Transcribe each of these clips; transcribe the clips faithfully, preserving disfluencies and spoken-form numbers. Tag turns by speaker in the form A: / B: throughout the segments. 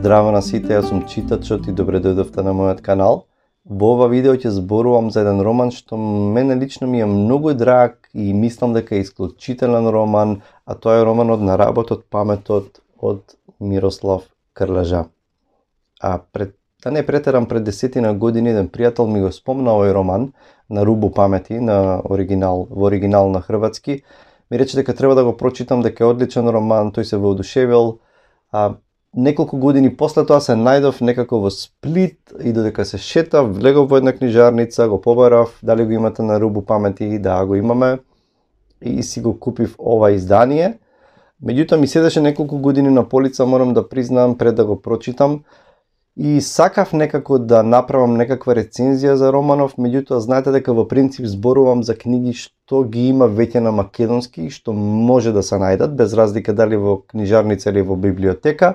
A: Здраво на сите, јас сум читачот и добре дојдовте на мојот канал. Во ова видео ќе зборувам за еден роман што мене лично ми е многу драг и мислам дека е исклучителен роман, а тоа е романот На работот паметот од Мирослав Крлежа. А пред да не претерам, пред десетина години еден пријател ми го спомна овој роман На рубу памети на оригинал, во оригинал на хрватски. Ми рече дека треба да го прочитам, дека е одличен роман, тој се воодушевил. А неколку години после тоа се најдов некако во Сплит и додека се шетав, влегов во една книжарница, го побарав, дали го имате На рубу памети, да го имаме, и си го купив ова издание. Меѓутоа ми седеше неколку години на полица, морам да признам, пред да го прочитам. И сакав некако да направам некаква рецензија за романов, меѓутоа знаете дека во принцип зборувам за книги што ги има веќе на македонски, што може да се најдат, без разлика дали во книжарница или во библиотека.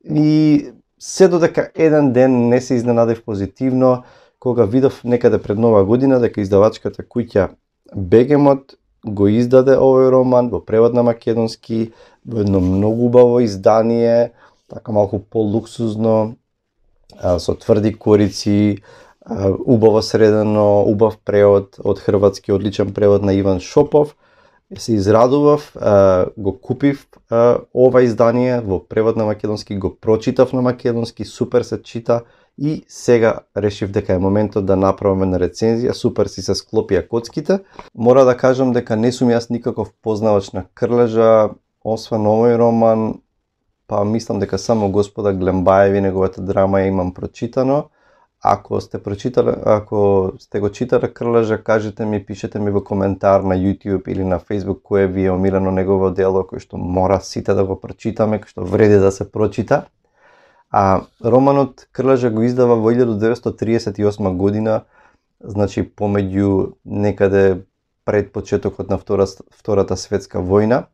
A: И се додека еден ден не се изненадив позитивно, кога видов некаде пред нова година дека издавачката куќа Бегемот го издаде овој роман во превод на македонски, во едно многу убаво издание, така малку по-луксузно, со тврди корици, убаво средено, убав превод од хрватски, одличен превод на Иван Шопов. Се израдував, го купив ова издание во превод на македонски, го прочитав на македонски, супер се чита и сега решив дека е моментот да направам една рецензија, супер си се склопија коцките. Мора да кажам дека не сум јас никаков познавач на Крлежа, освен овој роман, па мислам дека само Господа Глембаеви, неговата драма ја имам прочитано. Ако сте прочитале, ако сте го читале Крлежа, кажете ми, пишете ми во коментар на YouTube или на Facebook кој ви е омилено негово дело, кој што мора сите да го прочитаме, кој што вреди да се прочита. А романот Крлежа го издава во илјадум деветстотини триесет и осма година, значи помеѓу некаде пред почетокот на втора, Втората светска војна.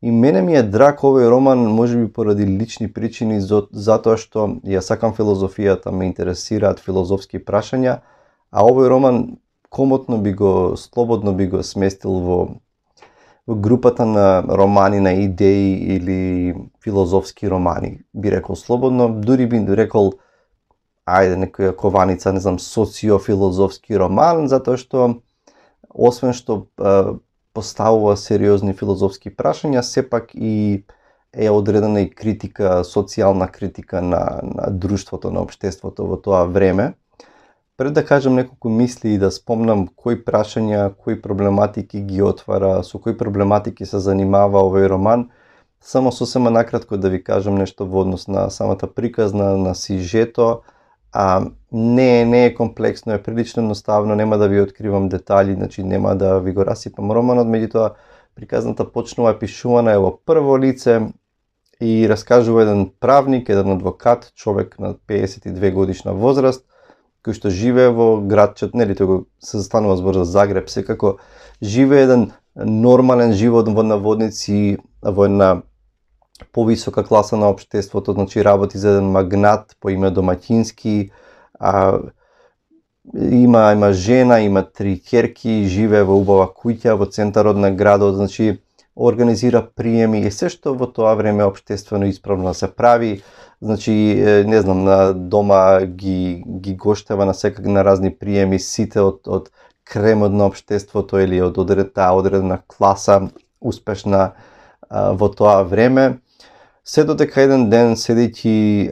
A: И мене ми е драг овој роман, можеби поради лични причини, затоа што ја сакам филозофијата, ме интересираат филозофски прашања, а овој роман комотно би го, слободно би го сместил во, во групата на романи на идеи или филозофски романи. Би рекол слободно, дури би рекол, ајде, некоја кованица, не знам, социофилозофски роман, затоа што, освен што поставува сериозни филозофски прашања, сепак и е одредена и критика, социјална критика на, на друштвото, на општеството во тоа време. Пред да кажам неколку мисли и да спомнам кои прашања, кои проблематики ги отвара, со кои проблематики се занимава овој роман, само сосема накратко да ви кажам нешто во однос на самата приказна, на сижето. А не, не е комплексно, е прилично едноставно, нема да ви откривам детали, значи нема да ви го расипам романот, меѓутоа приказната почнува пишувана е во прво лице и раскажува еден правник, еден адвокат, човек на пеесет и две годишна возраст, кој што живее во градчет, нели тоа се застанува збор за Загреб, секако живее еден нормален живот во наводници, во една повисока класа на општеството, значи работи за еден магнат по име Домаќински, а, има има жена, има три ќерки, живее во убава куќа во центарот на градот, значи организира приеми и се што во тоа време општествено исправно се прави, значи не знам, на дома ги ги гоштева на секак на разни приеми сите од од кремот на општеството или од одредена одредена класа успешна а, во тоа време. Се додека еден ден седејќи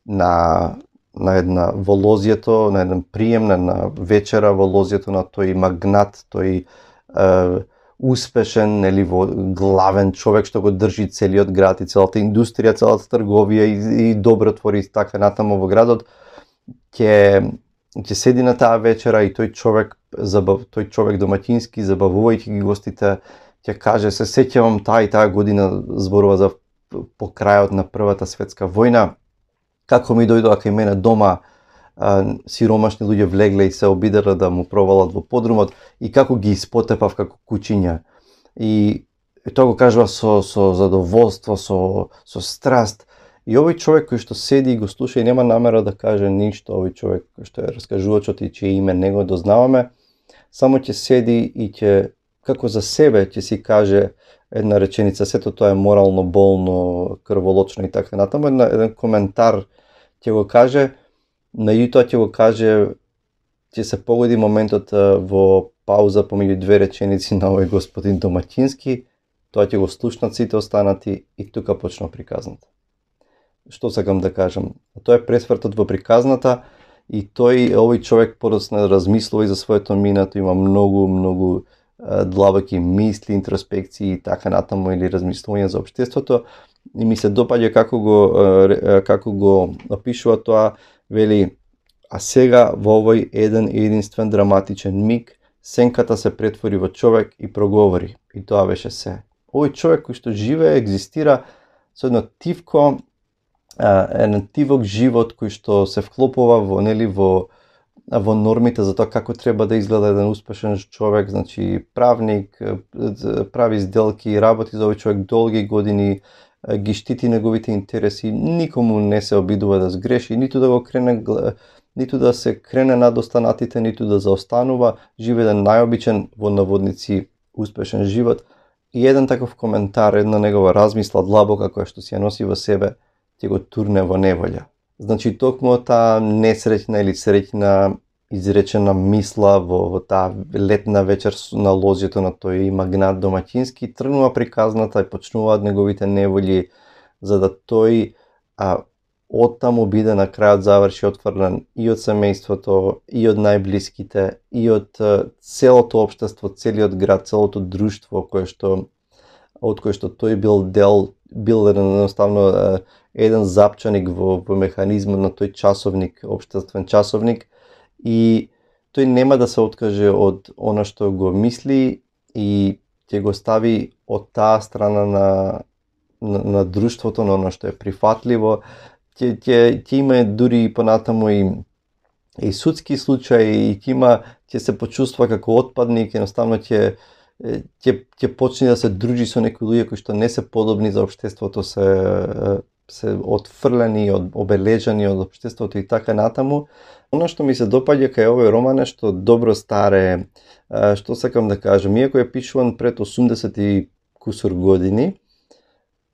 A: на на една во лозјето, на еден прием, на една вечера во лозјето на тој магнат, тој е, успешен, нели, во главен човек што го држи целиот град и целата индустрија, целата трговија и, и добротвори и така натаму во градот, ќе ќе седи на таа вечера и тој човек, забав, тој човек Домаќински, забавувајќи ги гостите, ќе каже: се сеќавам таа и таа година, зборува за по крајот на Првата светска војна, како ми дојдоа кај мене дома а, сиромашни луѓе влегле и се обиделе да му провалат во подрумот и како ги испотепав како кучиња. И, и тоа го кажува со, со задоволство, со, со страст. И овој човек кој што седи и го слуша и нема намера да каже ништо, овој човек кој што е раскажувачот и чие име не го дознаваме, само ќе седи и ќе, како за себе, ќе си каже: една реченица, сето тоа е морално, болно, крволочно и така натаму, една, еден коментар ќе го каже, меѓутоа ќе го каже, ќе се погоди моментот во пауза помеѓу две реченици на овој господин домаќински, тоа ќе го слушнат сите останати и тука почнува приказната. Што сакам да кажам? Тоа е пресвртот во приказната и тој, овој човек подоцна размислува и за своето минато, има многу, многу длабоки мисли, интроспекции и така натаму или размислување за општеството и ми се допаѓа како го како го опишува тоа, вели, а сега во овој еден единствен драматичен миг сенката се претвори во човек и проговори и тоа беше се. Овој човек кој што живее, екзистира со едно тивко, еден тивок живот кој што се вклопува во нели во во нормите за тоа како треба да изгледа еден успешен човек, значи правник, прави сделки, работи за овој човек долги години, ги штити неговите интереси, никому не се обидува да сгреши, ниту да го крене, ниту да се крене над останатите, ниту да заостанува, живее еден најобичен во наводници успешен живот. И еден таков коментар, една негова размисла длабока која што си ја носи во себе, ќе го турне во неволја. Значи, токму таа несреќна или среќна изречена мисла во, во таа летна вечер на лозјето на тој магнат домаќински, тргнува приказната и почнуваат неговите неволји, за да тој а, оттаму биде на крајот заврши отфрлен и од семејството, и од најблиските, и од целото општество, целиот град, целото друштво кое што од кој што тој бил дел, бил едноставно еден запчаник во, во механизмот на тој часовник, општествен часовник, и тој нема да се откаже од она што го мисли и ќе го стави од таа страна на, на, на друштвото, на она што е прифатливо. Ќе, ќе, ќе има дури понатаму и, и судски случаи, и ќе има, ќе се почувства како отпадник, едноставно ќе ќе ќе почне да се дружи со некои луѓе кои што не се подобни за општеството, се се отфрлени, обележани од општеството и така натаму. Оно што ми се допаѓа кај овој роман е што добро старе, што сакам да кажам, иако е пишуван пред осумдесет и кусур години,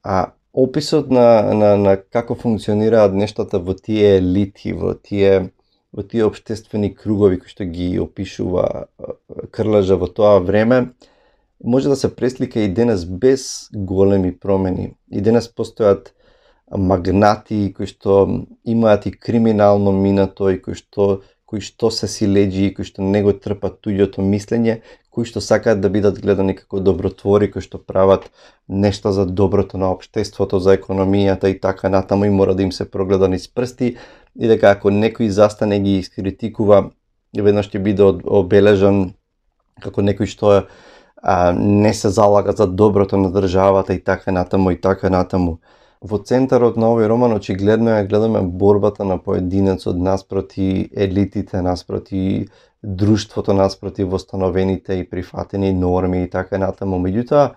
A: а описот на, на, на како функционираат нештата во тие елити, во тие, во тие општествени кругови кои што ги опишува Крлажа во тоа време, може да се преслика и денес без големи промени. И денес постојат магнати кои што имаат и криминално минато и кои што кои што се силеџи, кои што не го трпат туѓото мислење, кои што сакаат да бидат гледани како добротвори, кои што прават нешта за доброто на општеството, за економијата и така натаму, и мора да им се прогледа низ прсти, и дека ако некој застане ги искритикува, веднаш ќе биде обележан како некој што а, не се залага за доброто на државата и така натаму и така натаму. Во центарот на овој роман очигледно ја гледаме борбата на поединецот наспроти елитите, наспроти друштвото, наспроти востановените и прифатени норми и така натаму. Меѓутоа,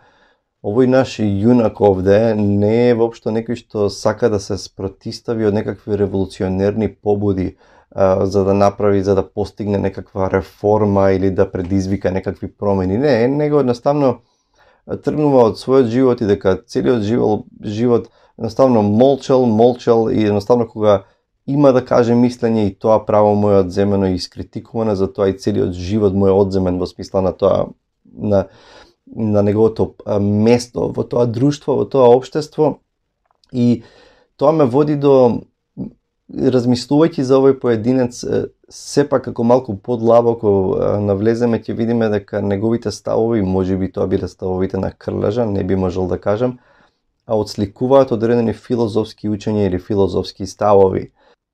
A: овој наш јунак овде не е воопшто некој што сака да се спротистави од некакви револуционерни побуди, а, за да направи, за да постигне некаква реформа или да предизвика некакви промени. Не, него едноставно тргнува од својот живот и дека целиот живот, живот едноставно молчал, молчал и едноставно кога има да каже мислење и тоа право му е одземено и искритикувано, за тоа и целиот живот му е одземен во смисла на тоа, на, на неговото место во тоа друштво, во тоа општество, и тоа ме води до, размислувајќи за овој поединец, сепак како малку подлабоко навлеземе, ќе видиме дека неговите ставови, можеби тоа биле ставовите на Крлажа, не би можел да кажам, а отсликуваат одредени филозофски учења или филозофски ставови.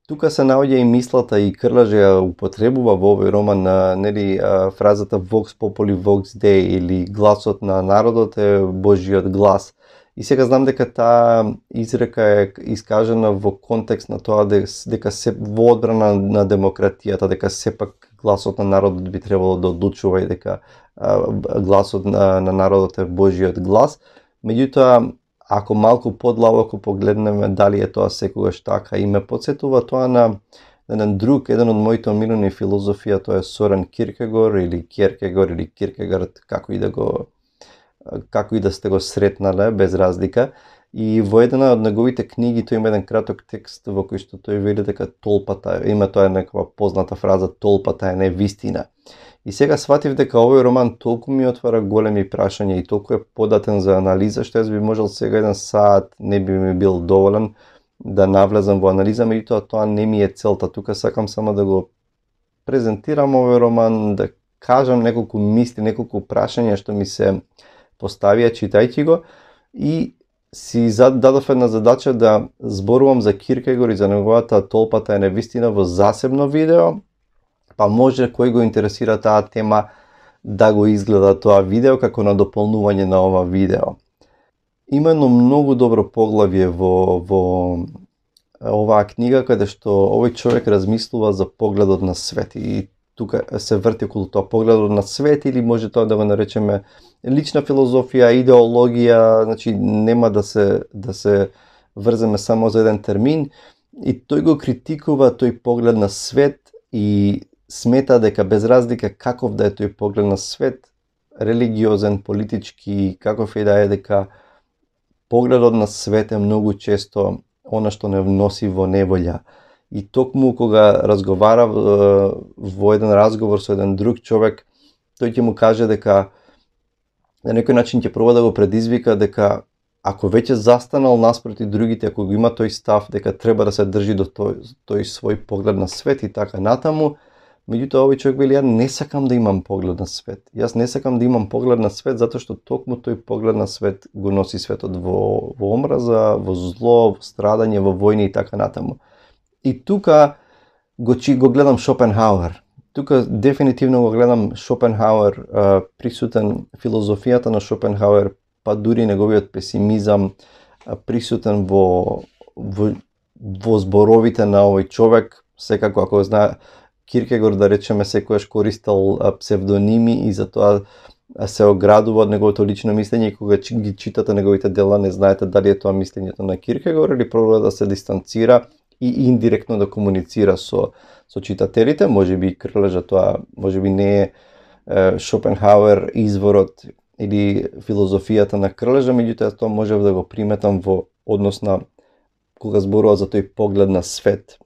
A: Тука се наоѓа и мислата, и Крлаж ја употребува во овој роман на, нели, фразата Vox Populi Vox Dei, или гласот на народот е Божиот глас. И сега знам дека таа изрека е искажена во контекст на тоа дека се во одбрана на демократијата, дека сепак гласот на народот би требало да одлучува и дека гласот на, на народот е Божиот глас. Меѓутоа, ако малку подлабоко погледнеме дали е тоа секогаш така, и ме потсетува тоа на еден друг, еден од моите омилени филозофија, тоа е Сорен Киркегор или Кierkegaard или Киркегард, како и да го како и да сте го сретнале, без разлика. И во една од неговите книги тој има еден краток текст во кој што тој вели дека толпата, има тоа некаква позната фраза, толпата е невистина. И сега сватив дека овој роман толку ми отвара големи прашања и толку е податен за анализа, што јас би можел сега еден саат не би ми бил доволен да навлезам во анализа, меѓутоа тоа не ми е целта. Тука сакам само да го презентирам овој роман, да кажам неколку мисли, неколку прашања што ми се поставија читајќи го, и си дадов една задача да зборувам за Киркегор и за неговата толпата е невистина во засебно видео, па може кој го интересира таа тема да го изгледа тоа видео како на дополнување на ова видео. Има едно многу добро поглавје во, во оваа книга, каде што овој човек размислува за погледот на свет и тука се врти околу тоа погледот на свет, или може тоа да го наречеме лична филозофија, идеологија, значи нема да се да се врземе само за еден термин, и тој го критикува тој поглед на свет и смета дека без разлика каков да е тој поглед на свет, религиозен, политички, каков и да е, дека погледот на свет е многу често она што не носи во неволја. И токму кога разговара во еден разговор со еден друг човек, тој ќе му каже дека на некој начин ќе проба да го предизвика дека ако веќе застанал наспроти другите, ако го има тој став дека треба да се држи до тој, тој свој поглед на свет и така натаму, меѓутоа овој човек вели, ја не сакам да имам поглед на свет. Јас не сакам да имам поглед на свет затоа што токму тој поглед на свет го носи светот во, во омраза, во зло, во страдање, во војни и така натаму. И тука го, чи, го гледам Шопенхауер. Тука дефинитивно го гледам Шопенхауер, присутен филозофијата на Шопенхауер, па дури неговиот песимизам присутен во, во, во зборовите на овој човек. Секако, ако знае Киркегор, да речеме, секојаш користел псевдоними и затоа се оградува од неговото лично мислење, и кога ги читате неговите дела не знаете дали е тоа мислењето на Киркегор или пробува да се дистанцира и индиректно да комуницира со, со читателите. Може би Крлежа тоа, може би не е, е Шопенхауер изворот или филозофијата на Крлежа, меѓутоа тоа можев да го приметам во однос на кога зборува за тој поглед на свет.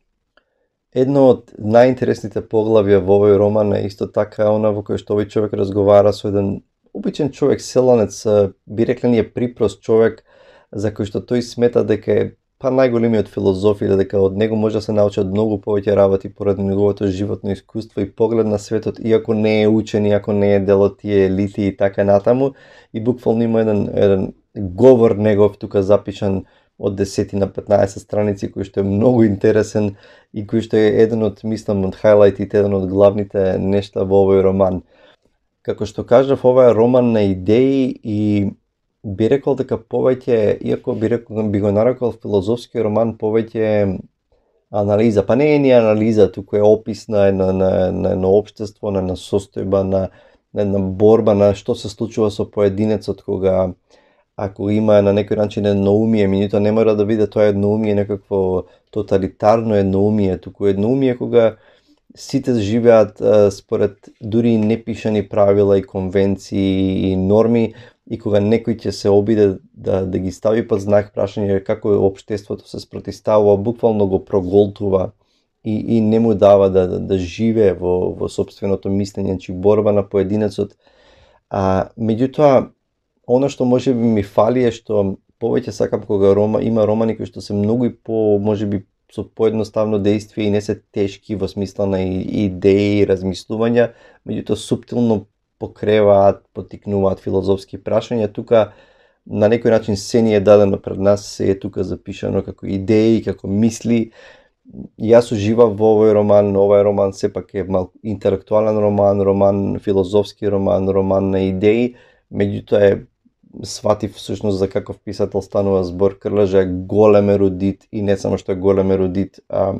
A: Едно од најинтересните поглавја во овој роман е исто така она во кој што овој човек разговара со еден обичен човек, селанец, би рекле ние припрост човек, за кој што тој смета дека е па најголемиот филозоф, или дека од него може да се научат многу повеќе работи поради неговото животно искуство и поглед на светот, иако не е учен, иако не е дел од тие елити и така натаму. И буквално има еден, еден говор негов тука запишан од десет на петнаесет страници, кој што е многу интересен и кој што е еден од, мислам, од хайлайтите, еден од главните нешта во овој роман. Како што кажав, ова е роман на идеи и би рекол дека повеќе, иако би рекол, би го нарекол филозофски роман, повеќе анализа, па не е ни анализа, туку е опис на на на на, на општество, на, на состојба, на на една борба, на што се случува со поединецот кога ако има на некој начин едноумие, меѓутоа не мора да биде тоа едноумие некакво тоталитарно едноумие, туку едноумие кога сите живеат а, според дури непишани правила и конвенции и норми, и кога некој ќе се обиде да, да ги стави под знак прашање како општеството се спротивставува, буквално го проголтува и, и не му дава да, да, да живее во, во собственото мислење, чи борба на поединецот. А, меѓутоа, она што може би ми фали е што повеќе сакам кога рома, има романи кои што се многу и по, може би, со поедноставно действие и не се тешки во смисла на идеи и размислувања, меѓутоа суптилно покреваат, потикнуваат филозофски прашања. Тука на некој начин се ни е дадено пред нас, се е тука запишано како идеи, како мисли. Јас уживав во овој роман, овој роман сепак е мал интелектуален роман, роман филозофски роман, роман на идеи, меѓутоа е сватив всушност за каков писател станува збор. Крлежа е голем ерудит и не само што е голем ерудит, а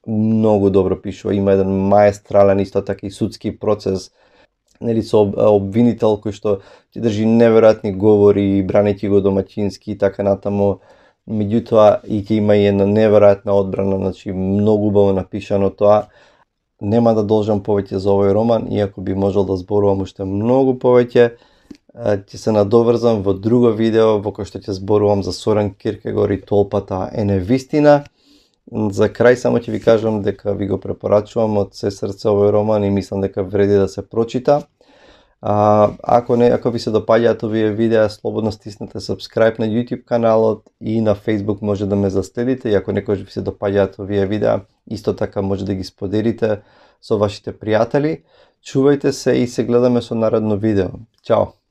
A: многу добро пишува. Има еден маестрален исто така и судски процес, нели, со обвинител кој што ти држи неверојатни говори, бранејќи го домаќински и така натаму. Меѓутоа и ќе има и една неверојатна одбрана, значи многу убаво напишано тоа. Нема да должам повеќе за овој роман, иако би можел да зборувам уште многу повеќе. ќе се надоврзам во друго видео во кој што ќе зборувам за Сорен Киркегор и толпата е невистина. За крај само ќе ви кажам дека ви го препорачувам од се срце овој роман и мислам дека вреди да се прочита. А, ако не, ако ви се допаѓаат овие видеа, слободно стиснете subscribe на YouTube каналот и на Facebook може да ме заследите. И ако некој ви се допаѓаат овие видеа, исто така може да ги споделите со вашите пријатели. Чувајте се и се гледаме со наредно видео. Чао!